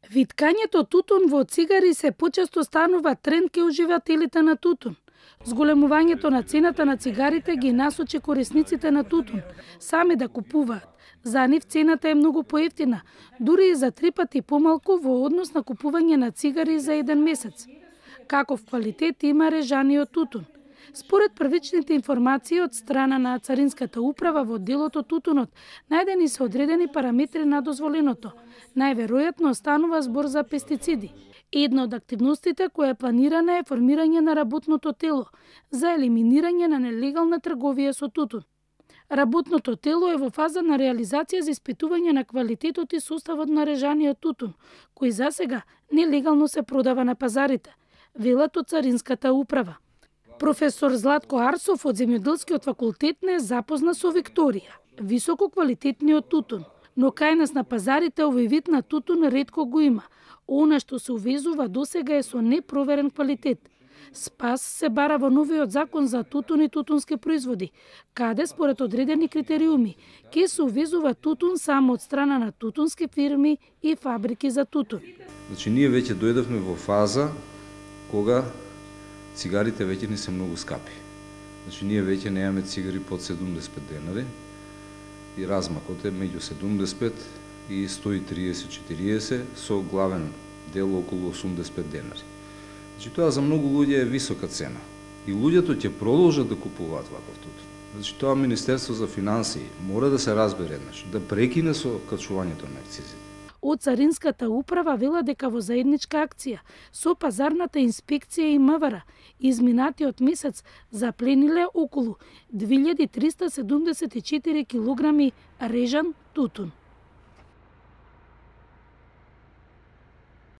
Виткањето тутун во цигари се почесто станува тренд кај уживателите на тутун. Зголемувањето на цената на цигарите ги насочи корисниците на тутун сами да купуваат. За нив цената е многу поевтина, дури и за 3 пати помалку во однос на купување на цигари за еден месец. Каков квалитет има режаниот тутун? Според првичните информации од страна на Царинската управа во делото тутунот, најдени се одредени параметри на дозволеното. Најверојатно станува збор за пестициди. Една од активностите која е планирана е формирање на работното тело за елиминирање на нелегална трговија со тутун. Работното тело е во фаза на реализација за испитување на квалитетот и составот на режаниот тутун, кој засега нелегално се продава на пазарите, велат од Царинската управа. Професор Златко Арсов од Земјоделскиот факултет не запозна со Викторија, високо квалитетниот тутун, но кај нас на пазарите овој вид на тутун ретко го има. Она што се увезува досега е со непроверен квалитет. Спас се бара во новиот закон за тутун и тутунски производи, каде според одредени критериуми ќе се увезува тутун само од страна на тутунски фирми и фабрики за тутун. Значи ние веќе дојдовме во фаза кога цигарите веќе не се многу скапи. Значи ние веќе немаме цигари под 75 денари и размакот е меѓу 75 и 130-40 со главен дел околу 85 денари. Значи тоа за многу луѓе е висока цена и луѓето ќе продолжат да купуваат ваков тутун. Значи тоа Министерство за финансии мора да се разбере еднаш, да прекине со качувањето на акцизите. Од Царинската управа вела дека во заедничка акција со пазарната инспекција и МВР изминатиот месец заплениле околу 2374 килограми режан тутун.